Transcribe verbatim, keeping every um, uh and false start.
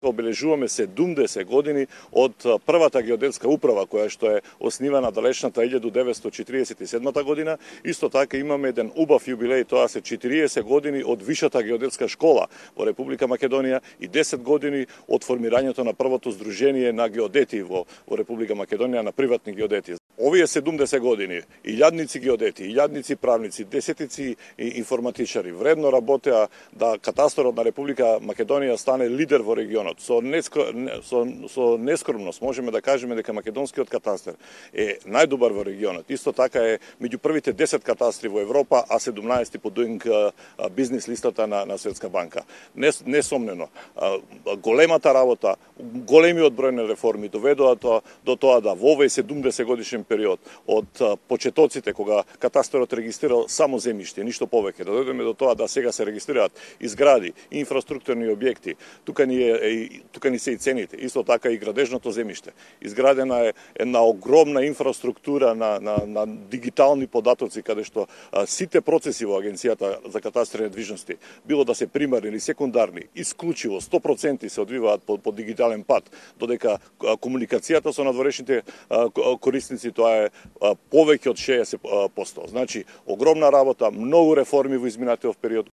Обележуваме седумдесет години од првата геодетска управа која што е основана далечната илјаду деветстотини четиридесет и седма година. Исто така имаме еден убав јубилеј, тоа се четириесет години од Вишата геодетска школа во Република Македонија и десет години од формирањето на првото здружение на геодети во, во Република Македонија, на приватни геодети. Овие седумдесет години илјадници геодети, илјадници правници, десетици информатичари вредно работеа да катастрот на Република Македонија стане лидер во регионот. Со, нескро, со, со нескромност можеме да кажеме дека македонскиот катастар е најдобар во регионот. Исто така е меѓу првите десет катастри во Европа, а седумнаесети по Doing бизнис листата на, на Светска банка. Несомнено, големата работа, големиот број на реформи доведоа тоа, до тоа да во овој седумдесет годишен период од почетоците кога катастарот регистрирал само земјиште, ништо повеќе, да дојдеме до тоа да сега се регистрираат и згради, и инфраструктурни објекти. Тука ни е тука ни се и цените, исто така и градежното земјиште. Изградена е една огромна инфраструктура на, на, на дигитални податоци, каде што а, сите процеси во Агенцијата за катастар и недвижности, било да се примарни или секундарни, исклучиво сто проценти се одвиваат по, по дигитален пат, додека а, комуникацијата со надворешните а, корисници тоа е а, повеќе од шеесет проценти. Значи, огромна работа, многу реформи во изминатиот период.